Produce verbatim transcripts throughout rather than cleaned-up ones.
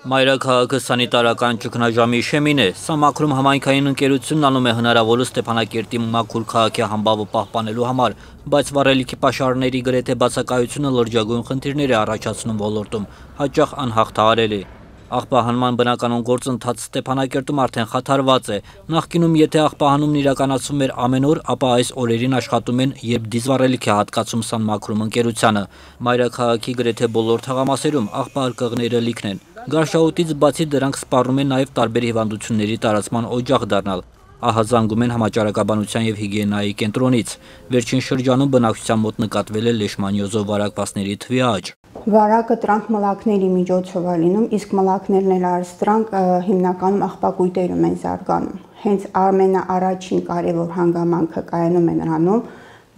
Մայրաքաղաքը սանիտարական ճգնաժամի շեմին է, սա Մաքրում համայնքային ընկերությունն անում է հնարավորը Ստեփանակերտի մաքուր քաղաքի համբավը պահպանելու համար, բայց վառելիքի պաշարների գրեթե բացակայությունը լրջագույն խնդիրներ է առաջացնում ոլորտում, հաճախ անհաղթահարելի։ Աղբահանման բնականոն գործընթացը Ստեփանակերտում արդեն խաթարված է։ Նախկինում եթե աղբահանումն իրականացվում էր ամեն օր, ապա այս օրերին աշխատում են երբ դիզվառելիք է հատկացում Սան Մաքրում ընկերությանը։ Մայրաքաղաքի գրեթե բոլոր թաղամասերում աղբահարկղները լիքն են։ Գարշահոտից բացի դրանք սպառնում են նաև տարբեր հիվանդությունների տարածման օջախ դառնալ։ Ահազանգում են համաճարակաբանության և հիգիենայի կենտրոնից։ Վերջին շրջանում բնակչության մոտ նկատվել է լեշմանիոզով վարակվածների թվի աճ։ Վարակը տրանք մլակների միջոցով է լինում, իսկ մլակներն էլ արստրանք հիմնականում աղբակույտերում են զարգանում։ Հենց ամենաառաջին կարևոր հանգամանքը կայանում է նրանում,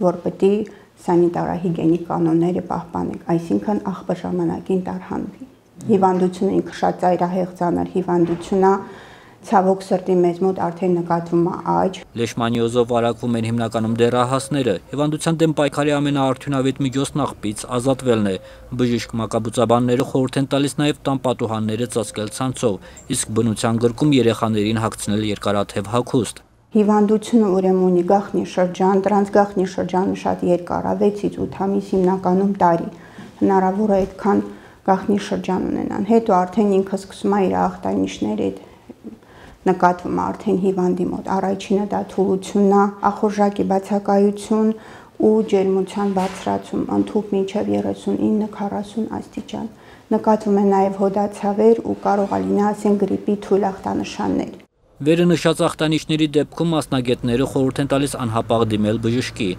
որ պետք է սանիտարահիգիենիկ կանոնները պահպանենք, այսինքն աղբը ժամանակին տարհանվի։ Հիվանդությունը ինքը շատ ծայրահեղ ծանր հիվանդություն է, ցավոք սրտի մեզ մոտ արդեն նկատվում է աճ։ Լեշմանիոզով վարակվում են հիմնականում դեռահասները։ Հիվանդության դեմ պայքարի ամենաարդյունավետ միջոցն աղբից ազատվելն է։ Բժիշկ մակաբուծաբանները խորհուրդ են տալիս նաև տան պատուհանները ծածկել ցանցով, իսկ բնության գրկում երեխաներին հագցնել երկարաթև հագուստ։ Հիվանդությունը ուրեմն ունի գաղտնի շրջան, դրանց գաղտնի շրջանը շատ երկար է, վեցից ութ ամիս, հիմնականում տարի։ Հնարավոր է այդքան գաղտնի շրջան ունենան, հետո արդեն ինքը սկսում է իր ախտանիշները նկատվում է արդեն հիվանդի մոտ։ Առաջինը դա թուլությունն է, ախորժակի բացակայություն ու ջերմության բարձրացում, ընդհուպ մինչև երեսունինը քառասուն աստիճան։ Նկատվում է նաև հոդացավեր ու կարող է լինել ասեն գրիպի թույլ ախտանշաններ։ Վերը նշած ախտանիշների դեպքում մասնագետները խորհուրդ են տալիս անհապաղ դիմել բժշկի։